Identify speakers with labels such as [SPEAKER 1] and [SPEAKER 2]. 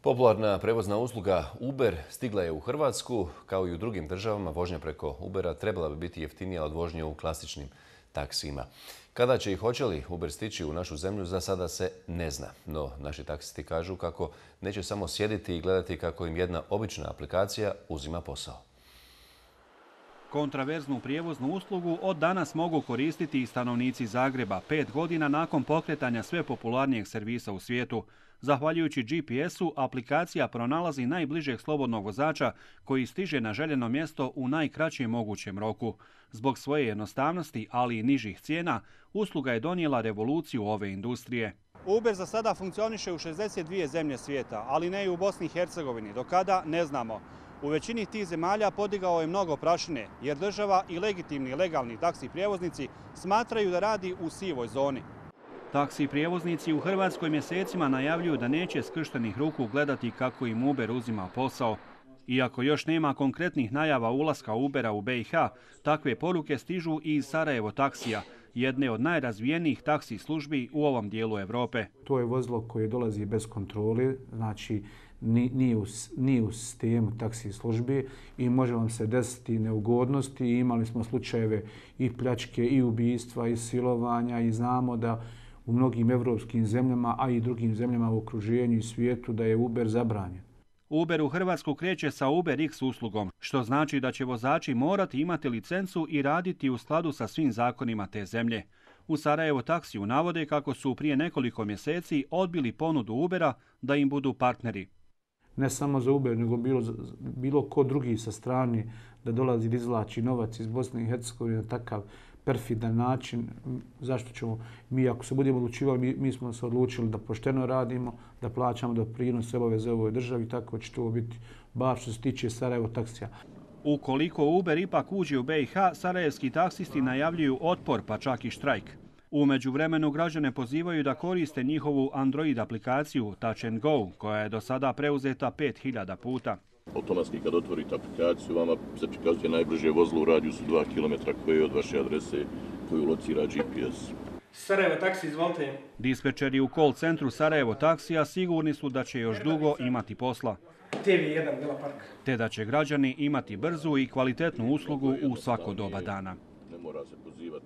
[SPEAKER 1] Popularna prevozna usluga Uber stigla je u Hrvatsku. Kao i u drugim državama, vožnja preko Ubera trebala bi biti jeftinija od vožnje u klasičnim taksijima. Kada će i hoće li Uber stići u našu zemlju, za sada se ne zna. No, naši taksisti kažu kako neće samo sjediti i gledati kako im jedna obična aplikacija uzima posao.
[SPEAKER 2] Kontraverznu prijevoznu uslugu od danas mogu koristiti i stanovnici Zagreba 5 godina nakon pokretanja sve popularnijeg servisa u svijetu. Zahvaljujući GPS-u, aplikacija pronalazi najbližeg slobodnog vozača koji stiže na željeno mjesto u najkraćem mogućem roku. Zbog svoje jednostavnosti, ali i nižih cijena, usluga je donijela revoluciju ove industrije.
[SPEAKER 3] Uber za sada funkcioniše u 62 zemlje svijeta, ali ne i u Bosni i Hercegovini. Do kada, ne znamo. U većini tih zemalja podigao je mnogo prašine, jer država i legitimni legalni taksi prijevoznici smatraju da radi u sivoj zoni.
[SPEAKER 2] Taksi prijevoznici u Hrvatskoj mjesecima najavljuju da neće skrštenih ruku gledati kako im Uber uzima posao. Iako još nema konkretnih najava ulaska Ubera u BiH, takve poruke stižu i iz Sarajevo taksija, jedne od najrazvijenijih taksi službi u ovom dijelu Europe.
[SPEAKER 4] To je vozilo koje dolazi bez kontrole, znači nije u sistemu taksi službe i može vam se desiti neugodnosti. Imali smo slučajeve i pljačke, i ubistva, i silovanja i znamo da u mnogim evropskim zemljama, a i drugim zemljama u okruženju i svijetu da je Uber zabranjen.
[SPEAKER 2] Uber u Hrvatsku kreće sa UberX uslugom, što znači da će vozači morati imati licencu i raditi u skladu sa svim zakonima te zemlje. U Sarajevo taksiju navode kako su prije nekoliko mjeseci odbili ponudu Ubera da im budu partneri.
[SPEAKER 4] Ne samo za Uber, nego bilo ko drugi sa strane da dolazi da izvlači novac iz Bosne i Hercegovine na takav perfidan način. Zašto ćemo mi, ako se budemo odlučivali, mi smo se odlučili da pošteno radimo, da plaćamo doprinose, obaveze ovoj državi, tako će to biti bar što se tiče Sarajevo taksija.
[SPEAKER 2] Ukoliko Uber ipak uđe u BiH, sarajevski taksisti najavljuju otpor, pa čak i štrajk. U međuvremenu građane pozivaju da koriste njihovu Android aplikaciju Touch and Go, koja je do sada preuzeta 5000 puta.
[SPEAKER 5] Automatski kad otvorite aplikaciju, vama se prikazuje najbliže vozilo u radijusu 2 km koje je od vaše adrese koju locira GPS.
[SPEAKER 6] Sarajevo taksi, izvolite.
[SPEAKER 2] Dispečeri u call centru Sarajevo taksija sigurni su da će još dugo imati posla.
[SPEAKER 6] TV1 Vila Park.
[SPEAKER 2] Te da će građani imati brzu i kvalitetnu uslugu u svako doba dana.
[SPEAKER 5] Ne mora se pozivati